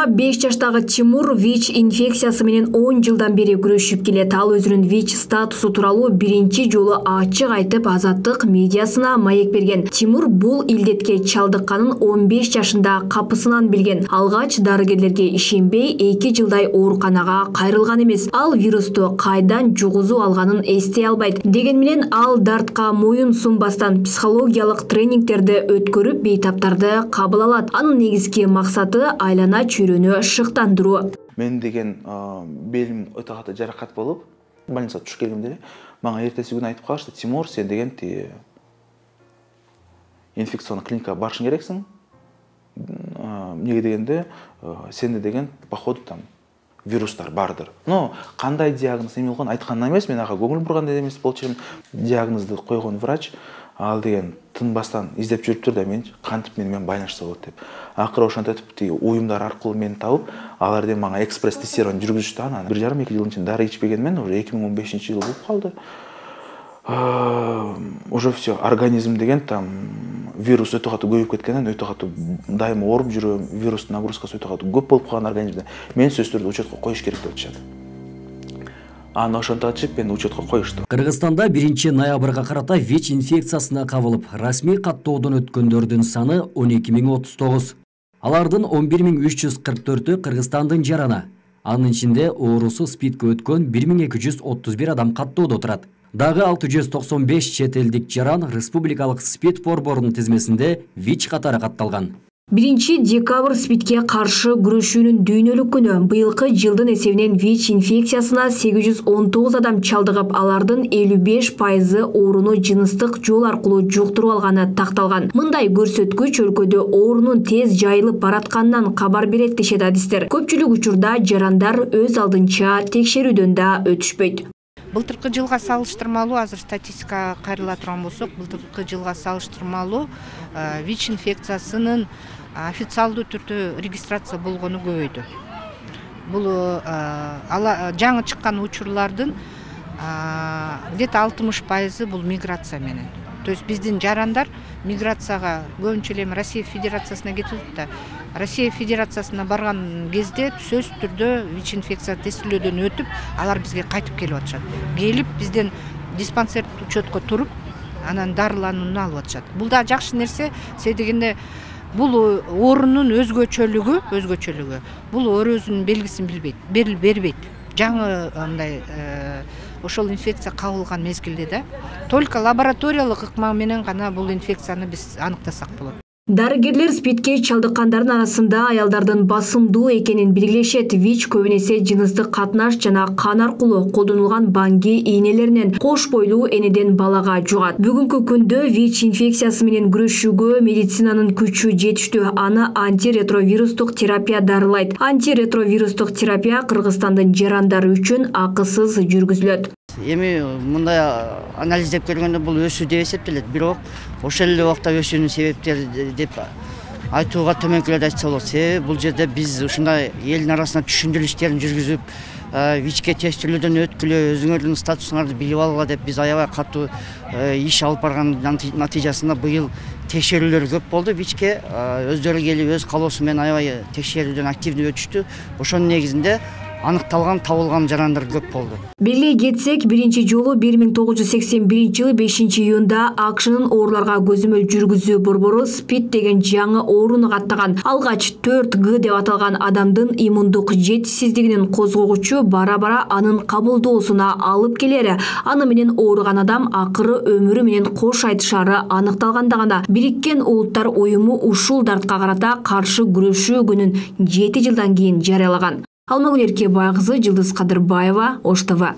5 жаштагы Тимур ВИЧ инфекциясы менен 10 жылдан бери күрөшүп келет. Ал өзүнүн ВИЧ статусу тууралуу биринчи жолу ачык айтып Азаттык медиасына маек берген. Тимур бул илдетке чалдыкканын 15 жашында капысынан билген. Алгач дарыгерлерге ишенбей 2 жылдай ооруканага кайрылган эмес. Ал вирусту кайдан жугузуп алганын эстей албайт. Деген менен ал дартка моюн сунбастан психологиялык тренингтерди өткөрүп бейтаптарды кабыл алат. Анын негизги максаты айлана чөйрөнү шыктандыруу. Мен деген белим өтө катуу жаракат болуп, больницага түшүп келгенде мага эртеси күнү айтып калышты: "Тимур, сен деген инфекционный клиникага барышың керексиң. Неге дегенде, сенде деген походу там вирустар бардыр." Но кандай диагноз эме болгон айткан эмес, мен ага көңүл бурган да эмес болчу элем. Диагнозду койгон врач ал деген тынбастан издеп жүрүптүр да мен кантип менен байланышса болот деп. Акыры ошентип уюмдар аркылуу мени табып, алар деген мага экспресс тестирование жүргүзүштү. Анан 1,5-2 жылдын ичинде дары ичпегенмен уже 2015-жыл болуп калды. Уже все, организм деген там вирус өтө катуу көбөйүп кеткенден өтө катуу дайыма ооруп жүрөм, вирустун нагрузкасы өтө катуу көп болуп калган организмде. Мен сөзсүз түрдө учетко коюш керек деп атышат. Аны ошентип мени учетко коюшту. Кыргызстанда 1 ноябрга карата ВИЧ инфекциясына кабылып, расмий каттоодон өткөндөрдүн саны 12.039. Алардын 11.344-ü Кыргызстандын жарана. Анын ичинде оорусу СПИДке өткөн 1.231 адам каттоодо турат. Дагы 695 чет элдик жаран республикалык СПИД борборунун тизмесинде ВИЧ катары катталган. 1 декабрь СПИДке каршы күрөшүүнүн дүйнөлүк күнү. Быйылкы жылдын эсебинен ВИЧ инфекциясына 819 адам чалдыгып, алардын 55% ооруну жыныстык жол аркылуу жуктуруп алганы такталган. Мындай көрсөткүч өлкөдө оорунун тез жайылып баратканынан кабар берет дешет адистер. Көпчүлүк учурда жарандар өз алдынча текшерүүдөн да өтүшпөйт. Былтыркы жылга салыштырмалуу, азыр статистикага кайрыла турган болсок, былтыркы жылга салыштырмалуу ВИЧ инфекциясынын официалдуу түрдө регистрация болгону көбөйдү. Бул жаңы чыккан учурлардын где-то 60% бул миграция менен. То есть биздин жарандар миграцияга көбүнчө эле Россия Федерациясына кетип да, Россия Федерациясына барган кезде сөзсүз түрдө ВИЧ инфекция тестилөөдөн өтүп, алар бизге кайтып келип атышат. Келип бизден диспансер учетко туруп, анан дарыланууну алып атышат. Бул да жакшы нерсе, себеби дегенде бул оорунун өзгөчөлүгү. Бул оорунун белгисин бербейт. Жаңы андай ошол инфекция кабылган мезгилде да только лабораториялык ыкма менен гана бул инфекцияны биз аныктасак болот. Дарыгерлер СПИДке чалдыккандардын арасында аялдардын басымдуу экенин белгилешет. ВИЧ көбүнесе жыныстык катнаш жана кан аркылуу колдонулган баңги ийнелеринен кош бойлуу энеден балага жугат. Бүгүнкү күндө ВИЧ инфекциясы менен күрөшүүгө медицинанын күчү жетиштүү. Аны антиретровирустук терапия дарылайт. Антиретровирустук терапия Кыргызстандын жарандары үчүн акысыз жүргүзүлөт. Эми мындай анализдеп көргөндө бул өсүү деп эсептелет. Бирок ошол эле убакта өсүүнүн себептери деп айтууга төмөнкүлөрдү айтса болот. Себеби бул жерде биз ушундай элдин арасына түшүндүрүү иштерин жүргүзүп, ВИЧке тестилөөдөн өткүлө, өзүңөрдүн статусуңарды билип алгыла деп биз аябай катуу иш алып барган натыйжасында быйыл текшерүүлөр көп болду. ВИЧке өздөрү келип өз калоосу менен аябай текшерүүдөн активдүү өтүштү. Ошонун негизинде аныкталган, табылган жарандар көп болду. Белгилей кетсек, биринчи жолу 1981-жылы 5-июнда АКШнын ооруларга көзөмөл жүргүзүү борбору СПИД деген жаңы ооруну каттаган. Алгач 4G деп аталган адамдын иммундук жетишсиздигинин козгогучу бара-бара анын кабылдоосуна алып келери. Аны менен ооруган адам акыры өмүрү менен кош айтышары аныкталганда гана Бириккен Улуттар уюму ушул дартка карата каршы күрөшүү күнүн 7 жылдан кийин жарыялаган. Алмагүл Эркебай кызы, Жылдыз Кадырбаева, Ош ТВ.